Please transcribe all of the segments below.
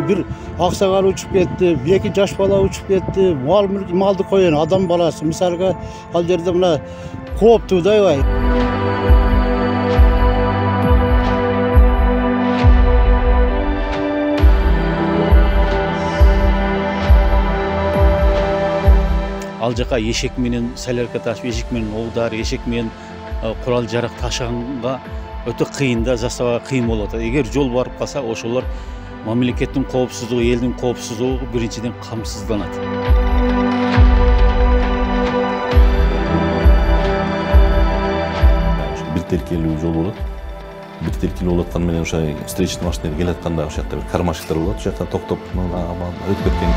бир аксагал учуп кетти, эки жаш бала учуп кетти. Малды коеюн, адам баласы. Мисалга, ал жерде мына кооптуу да аябай. Ал жака эшек менен солярка ташып, эшек менен оудар, эшек менен курал жарак ташыганга өтө кыйын да, заставага кыйын болуп атат. Эгер жол барып калса, ошолор мамлекеттин коопсуздугу, элдин коопсуздугу биринчиден камсызданат. Бир тилкелүү жол болот. Бир тилкелүү болуп аткан менен ошо встречный машиналар келе атканда ошол жакта бир кармашыктар болот. Ошол жактан токтоп, өтүп кеткен.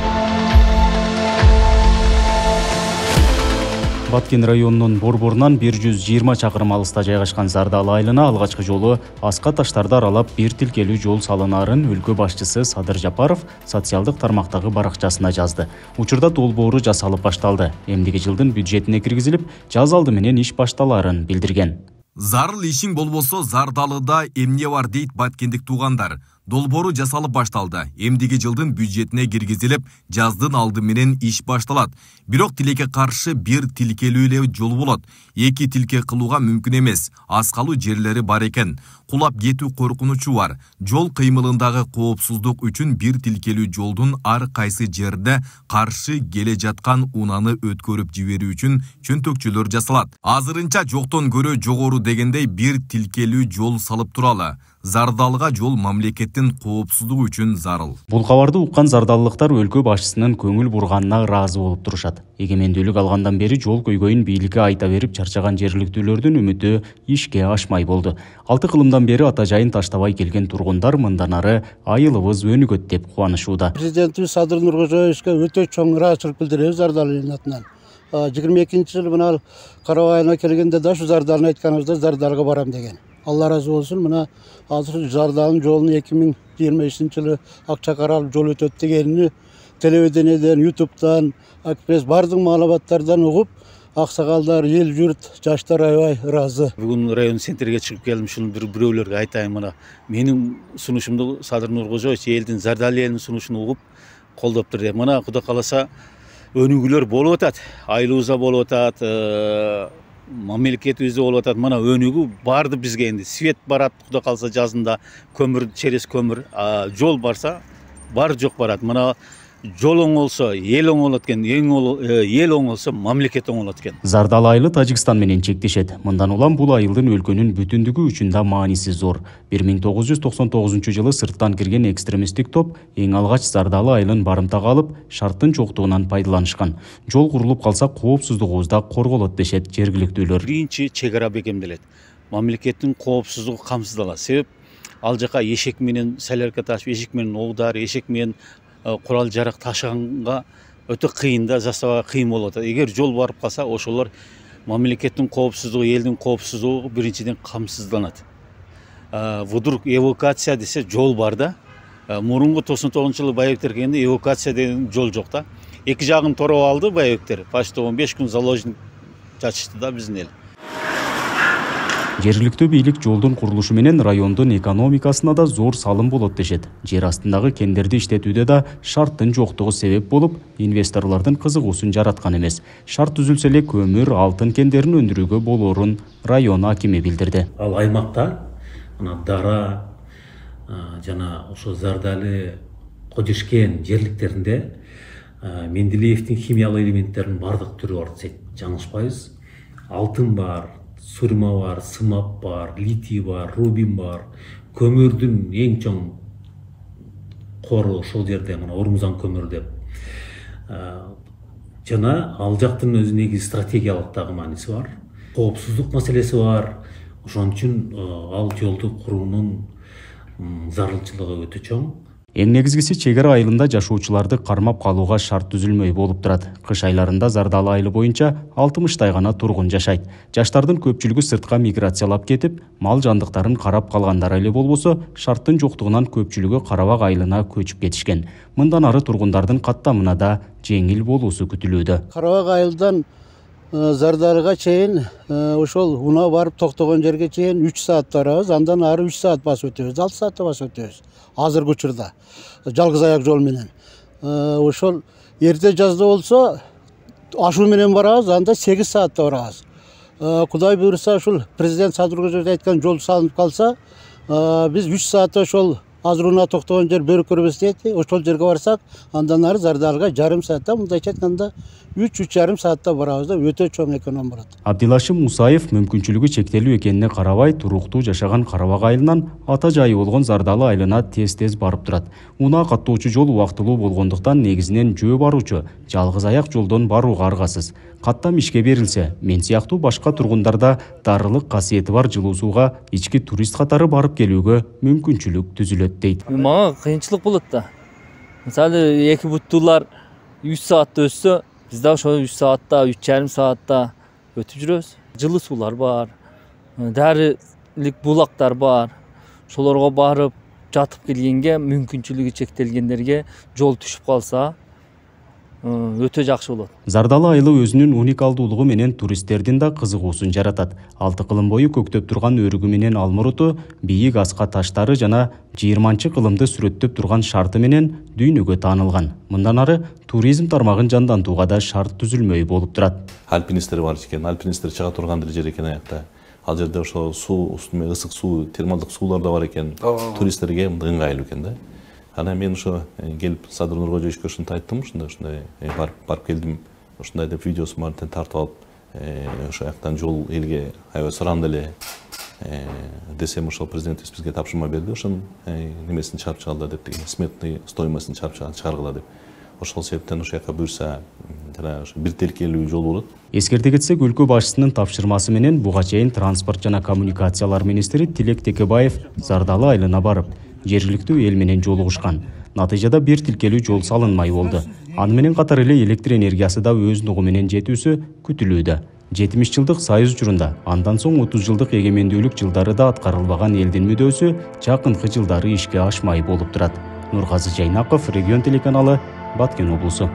Баткен районунун Борборунан 120 чакырым алыста жайгашкан Зардалы айылына алгачкы жолу аска таштарды аралап бир тилкелүү жол салынаарын өлкө башчысы Садыр Жапаров социалдык тармактагы баракчасына жазды. Учурда долбоору жасалып башталды. Эмдиги жылдын бюджетине киргизилип, жаз алды менен иш башталаарын билдирген. Зарыл ишиң болбосо Зардалыда эмне бар дейт баткендик туугандар. Долбоору жасалып башталды. Эмдиги жылдын бюджетине киргизилип, жаздын алды менен иш башталат. Бирок тилекке каршы бир тилкелүү эле жол болот. Эки тилке кылууга мүмкүн эмес. Аз калуу жерлери бар экен. Кулап кетүү коркунучу бар. Жол кыймылындагы коопсуздук үчүн бир тилкелүү жолдун ар кайсы жерде каршы келе жаткан унаны өткөрүп жиберүү үчүн чөнтөкчөлөр жасалат. Азырынча жоктон көрө жогору дегендей бир тилкелүү жол салып туралы. Зардалыга жол мамлекеттин коопсуздугу үчүн зарыл. Бул кабарды уккан зардалыктар өлкө башчысынын көңүл бурганына ыраазы болуп турушат. Эгемендүүлүк алгандан бери жол көйгөйүн бийликке айта берип чарчаган жергиликтүүлөрдүн үмүтү ишке ашмай болду. 6 кылымдан бери ата жайын таштабай келген тургундар мындан ары айылыбыз өнүгөт деп кубанышууда. Президентибиз Садыр Нуркожоевичке өтө чоң ыраазычылык билдиребиз Зардалы атынан. 22-жылы мына Карабай айылына келгенде да ушу Зардалыны айтканыбызда Зардалыга барам деген. Алла разы болсун, мына азыр Зардалынын жолун 2023-жылы акча каралып жол өтөт дегенини телевидениеден, ютубтан, акпресс бардык маалыматтардан угуп, аксагалдар, эл журт, жаштар аябай ыраазы. Бүгүн район центрге чыгып келдим, ушуну бирөөлөргө айтайын, мына менин сунушумду Садыр Нуркожоевич элдин Зардалы элинин сунушун угуп колдоптур деп. Мына Кудай кааласа өнүгүүлөр болуп атат, айылыбызда болуп атат, мамлекетибизде болуп атат. Мына өнүгүү барды бизге энди. Свет барат, Кудай кааласа жазында көмүр, через көмүр, жол барса бар жок барат. Мына жол оңолсо эл оңолот экен, эл оңолсо мамлекет оңолот экен. Зардалы айылы Тажикстан менен чектешет. Мындан улам бул айылдын өлкөнүн бүтүндүгү үчүн да мааниси зор. 1999-жылы сырттан кирген экстремисттик топ эң алгач Зардалы айылын барымтага алып, шарттын жоктугунан пайдаланышкан. Жол курулуп калса коопсуздугубуз да корголот дешет жергиликтүүлөр. Биринчи чек ара бекемделет. Мамлекеттин коопсуздугу камсыздалат. Себеп ал жака эшек менен солярка ташып, эшек менен оудар, эшек менен курал жарак ташыганга өтө кыйын да, заставага кыйын болуп атат. Эгер жол барып калса, ошолор мамлекеттин коопсуздугу, элдин коопсуздугу биринчиден камсызданат. Вдруг эвакуация десе жол бар да. Мурунку 99-жылы Байбектер келгенде эвакуация деген жол жок да. Эки жагын тороп алды Байбектер. Почти 15 күн заложник чачышты да биздин эл. Жергиликтүү бийлик жолдун курулушу менен райондун экономикасына да зор салым болот дешет. Жер астындагы кендерди иштетүүдө да шарттын жоктугу себеп болуп, инвесторлордун кызыгуусун жараткан эмес. Шарт түзүлсө эле көмүр, алтын кендерин өндүрүүгө болоорун район акими билдирди. Ал аймакта мына Дара жана ошо Зардалы, Кожешкен жерликтеринде Менделеевдин химиялык элементтеринин бардык түрү бар десек жаңылышпайбыз. Алтын бар, сурма бар, сымап бар, литий бар, рубин бар. Көмүрдүн эң чоң кору ошол жерде мына Ормузан көмүр деп. Жана ал жактын өзүнүн негизи стратегиялык дагы мааниси бар. Коопсуздук маселеси бар. Ошон үчүн ал жолду куруунун зарылчылыгы өтө чоң. Эң негизгиси чек ара айылында жашоочуларды кармап калууга шарт түзүлмөй болуп турат. Кыш айларында Зардалы айылы боюнча 60 гана тургун жашайт. Жаштардын көпчүлүгү сыртка миграциялап кетип, мал жандыктарын карап калгандар эле болбосо, шарттын жоктугунан көпчүлүгү Карабак айылына көчүп кетишкен. Мындан ары тургундардын каттамына да жеңил болуусу күтүлүүдө. Карабак айылдан Зардалыга чейин ошол унаа барып токтогон жерге чейин 3 саат барабыз, андан ары 3 саат басып өтөбүз, 6 саатта басып өтөбүз. Азыркы учурда жалгыз аяк жол менен. Ошол эрте жазда болсо ашуу менен барабыз, анда 8 саатта барабыз. Кудай буйруса ушул президент Садыр айткан жол салынып калса, биз 3 саатта ошол азыр унаа токтогон жер бөркөрбөс дейт. Ошол жерге барсак, андан ары Зардалыга жарым саатта, мындайча айтканда 3-3,5 саатта барабыз да, өтө чоң эконом болот. Абдилашим Мусаев мүмкүнчүлүгү чектелүү экенине карабай, туруктуу жашаган Карабак айылынан ата жайы болгон Зардалы айылына тез-тез барып турат. Унаа каттоочу жол убактылуу болгондуктан негизинен жөө баруучу жалгыз аяк жолдон барууга аргасыз. Каттам ишке берилсе, мен сыяктуу башка тургундарда дарылык касиети бар жылуу сууга ички турист катары барып келүүгө мүмкүнчүлүк түзүлөт дейт. Мага кыйынчылык болот да. Мисалы, эки буттуулар 3 саатта өссө, биз да ошо 3 саатта, 3,5 саатта өтүп жүрөбүз. Жылуу суулар бар, дарылык булактар бар. Ошолорго барып жатып келгенге, мүмкүнчүлүгү чектелгендерге жол түшүп калса, өтө жакшы болот. Зардалы айылы өзүнүн уникалдуулугу менен туристтердин да кызыгуусун жаратат. 6 кылым бою көктөп турган өрүгү менен алмуруту, бийик аска таштары жана 20 кылымды сүрөттөп турган шарты менен дүйнөгө таанылган. Мындан ары туризм тармагын жандантууга да шарт түзүлмөй болуп турат. Альпинисттер бар экен, альпинисттер чыга турган жер экен аякта. Ал жерде ошо суу, устуна ысык суу, термалдык суулар да бар экен. Туристтерге ыңгайлуу экен да. Ана мен ошо келип Садыр Нуркожоевичке ушундай айттым, ушундай барып келдим, ушундай деп видеосун баарын тартып алып, ошо жактан жол элге аябай сурандуу эле десем, ошол президентибиз бизге тапшырма берди, ошонун немесин чыгарып чыгала деп, сметный стоимостун чыгарып чыгаргыла деп. Ошол себептен ошол жака буйрса, жана ошо бир тилкелүү жол болот. Эскерте кетсек, өлкө башчысынын тапшырмасы менен буга чейин транспорт жана коммуникациялар министри Тилек Текебаев Зардалы айылына барып, жергиликтүү эл менен жолугушкан. Натыйжада бир тилкелүү жол салынмай болду. Аны менен катар эле электр энергиясы да өз нугу менен жетүүсү күтүлүүдө. 70 жылдык союз учурунда, андан соң 30 жылдык эгемендүүлүк жылдары да аткарылбаган элдин мүдөөсү жакынкы жылдары ишке ашмай болуп турат. Нургазы Жайнаков, Регион телеканалы, Баткен облусу.